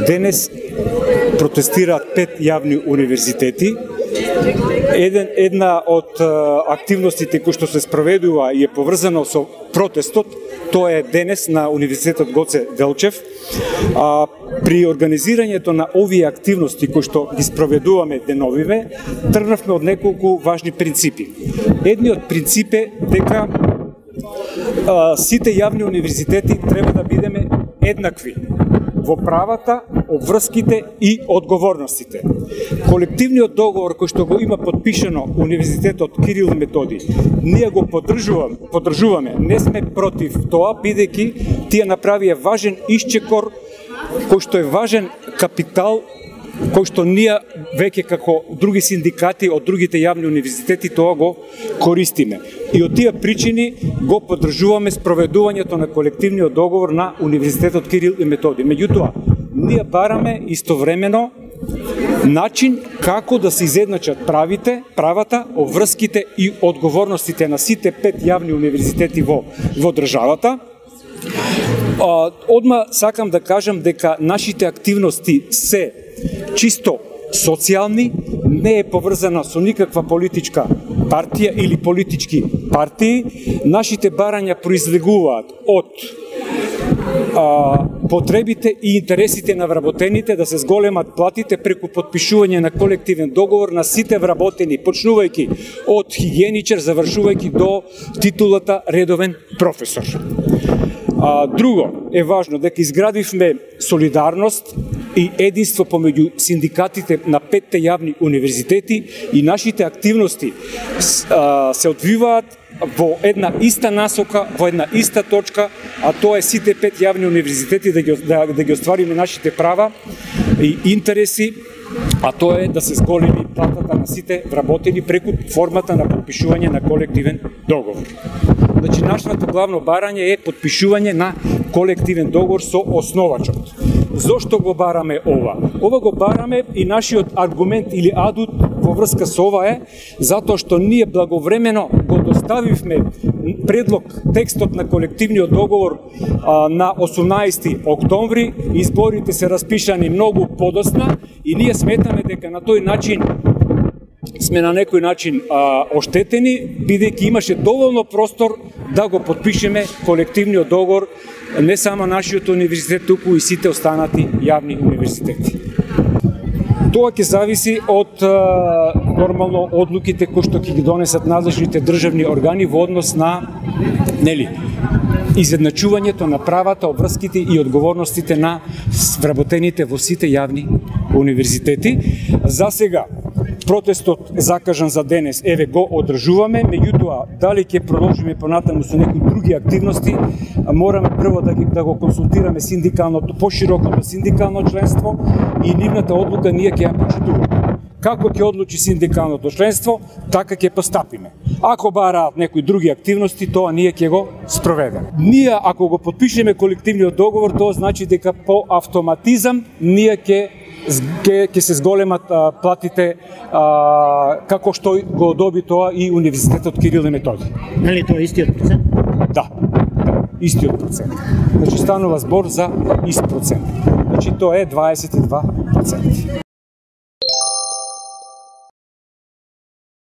Денес протестираат 5 јавни универзитети. Една од активностите кои што се спроведува и е поврзана со протестот, тоа е денес на Универзитетот Гоце Делчев. При организирањето на овие активности кои што ги спроведуваме деновиве, тргнавме од неколку важни принципи. Едниот принцип е дека сите јавни универзитети треба да бидеме еднакви во правата, обврските и одговорностите. Колективниот договор кој што го има подпишано Универзитетот Кирил и Методи, ние го поддржуваме, не сме против тоа, бидејќи тие направија важен исчекор кој што е важен капитал кој што ние веќе како други синдикати од другите јавни универзитети тоа го користиме. И од тие причини го поддржуваме спроведувањето на колективниот договор на Универзитетот Кирил и Методи. Меѓутоа, ние бараме истовремено начин како да се изедначат правата, обврските и одговорностите на сите 5 јавни универзитети во државата. Одма сакам да кажам дека нашите активности се чисто социјални, не е поврзана со никаква политичка партија или политички партии. Нашите барања произлегуваат од потребите и интересите на вработените да се зголемат платите преку подпишување на колективен договор на сите вработени, почнувајќи од хигиеничар, завршувајќи до титулата редовен професор. Друго е важно дека изградивме солидарност и единство помеѓу синдикатите на 5 јавни универзитети и нашите активности се одвиваат во една иста насока, во една иста точка, а тоа е сите 5 јавни универзитети да ги оствариме нашите права и интереси, а тоа е да се зголеми платата на сите вработени преку формата на подпишување на колективен договор. Значи, нашето главно барање е подпишување на колективен договор со основачот. Зошто го бараме ова? Ова го бараме и нашиот аргумент или адут во врска со ова е затоа што ние благовремено го доставивме предлог, текстот на колективниот договор на 18 октомври, изборите се распишани многу подосна и ние сметаме дека на тој начин сме на некој начин оштетени, бидејќи имаше доволно простор да го подпишеме колективниот договор не само нашиот универзитет, туку и сите останати јавни универзитети. Тоа ќе зависи од нормално одлуките кои што ќе ги донесат надлежните државни органи во однос на изедначувањето на правата, обврските и одговорностите на вработените во сите јавни универзитети. За сега протестот е закажан за денес, еве го одржуваме, меѓутоа дали ќе продолжиме понатаму со некои други активности, мораме прво да го консултираме синдикалното, поширокото синдикално членство и нивната одлука ние ќе ја почитуваме. Како ќе одлучи синдикалното членство, така ќе постапиме. Ако бараат некои други активности, тоа ние ќе го спроведеме. Ние, ако го подпишеме колективниот договор, тоа значи дека по автоматизам ние ќе се зголемат платите како што го доби тоа и Универзитетот Кирил и Методи. Нели тоа е истиот процент? Да, истиот процент. Значи станува збор за ист процент. Значи тоа е 22%.